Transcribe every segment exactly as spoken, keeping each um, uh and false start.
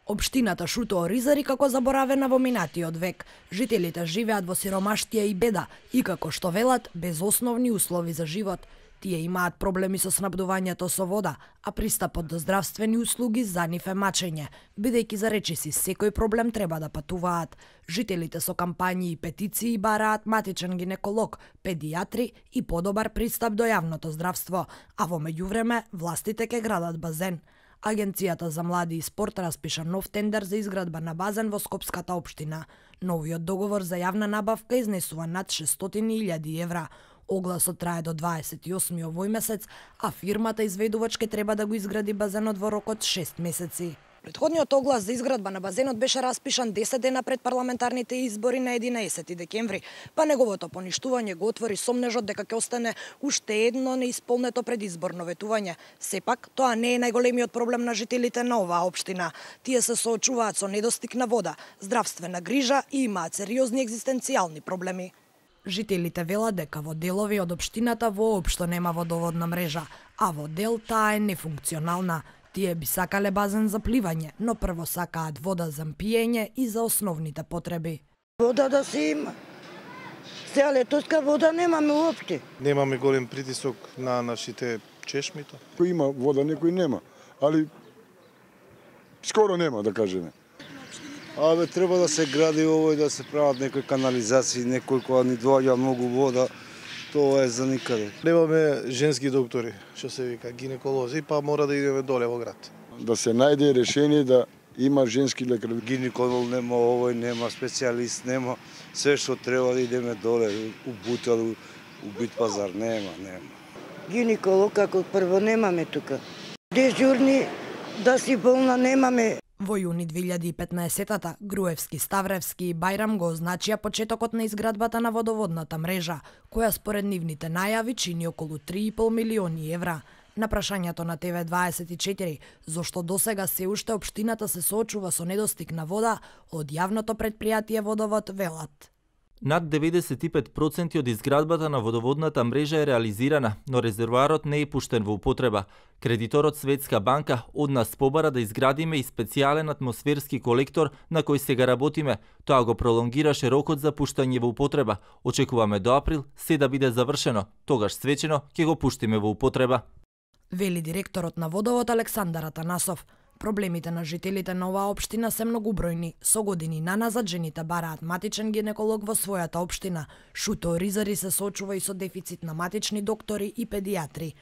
Општината Шуто Оризари како заборавена во минатиот век. Жителите живеат во сиромаштија и беда и како што велат, без основни услови за живот. Тие имаат проблеми со снабдувањето со вода, а пристапот до здравствени услуги за нив е мачење, бидејќи за речиси секој проблем треба да патуваат. Жителите со кампањи и петиции бараат матичен гинеколог, педијатри и подобар пристап до јавното здравство, а во меѓувреме властите ќе градат базен. Агенцијата за млади и спорт распиша нов тендер за изградба на базен во Скопската општина. Новиот договор за јавна набавка изнесува над шестстотини илјади евра. Огласот трае до дваесет и осми овој месец, а фирмата изведувач ке треба да го изгради базенот во рок од шест месеци. Претходниот оглас за изградба на базенот беше распишан десет дена пред парламентарните избори на единаесети декември, па неговото поништување го отвори сомнежот дека ќе остане уште едно неисполнето предизборно ветување. Сепак, тоа не е најголемиот проблем на жителите на оваа општина. Тие се соочуваат со недостиг на вода, здравствена грижа и имаат сериозни екзистенцијални проблеми. Жителите велат дека во делови од општината воопшто нема водоводна мрежа, а во дел таа е нефункционална. Тие би сакале базен за пливање, но прво сакаат вода за пиење и за основните потреби. Вода да се има. Сега летоска вода немаме уопште. Немаме голем притисок на нашите чешмито. Кој има вода, некој нема, али скоро нема, да кажеме. Абе, треба да се гради овој, да се прават некои канализации, некој кога ни доаѓа многу вода, тоа е за никаде. Немаме женски доктори, што се вика гинеколози, па мора да идеме доле во град. Да се најде решение да има женски лекар. Гинеколог нема, овој нема, специјалист нема, се што треба да идеме доле, у Бутел, у Бит пазар, нема, нема. Гинеколог како прво немаме тука. Дежурни да си болна немаме. Во јуни две илјади и петнаесетата Груевски, Ставревски и Бајрам го означија почетокот на изградбата на водоводната мрежа, која според нивните најави чини околу три и пол милиони евра. На прашањето на Т В дваесет и четири, зошто досега се уште општината се соочува со недостиг на вода, од јавното претпријатие Водовод велат. Над деветдесет и пет проценти од изградбата на водоводната мрежа е реализирана, но резервоарот не е пуштен во употреба. Кредиторот Светска банка од нас побара да изградиме и специјален атмосферски колектор на кој сега работиме. Тоа го пролонгираше рокот за пуштање во употреба. Очекуваме до април се да биде завршено, тогаш свечено ќе го пуштиме во употреба. Вели директорот на Водовод Александар Атанасов. Проблемите на жителите на оваа општина се многубројни. Со години наназад жените бараат матичен гинеколог во својата општина. Шуто Оризари се соочува и со дефицит на матични доктори и педијатри.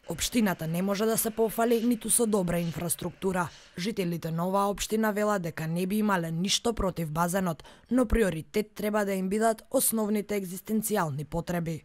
Општината не може да се пофали ниту со добра инфраструктура. Жителите на оваа општина велат дека не би имале ништо против базенот, но приоритет треба да им бидат основните екзистенцијални потреби.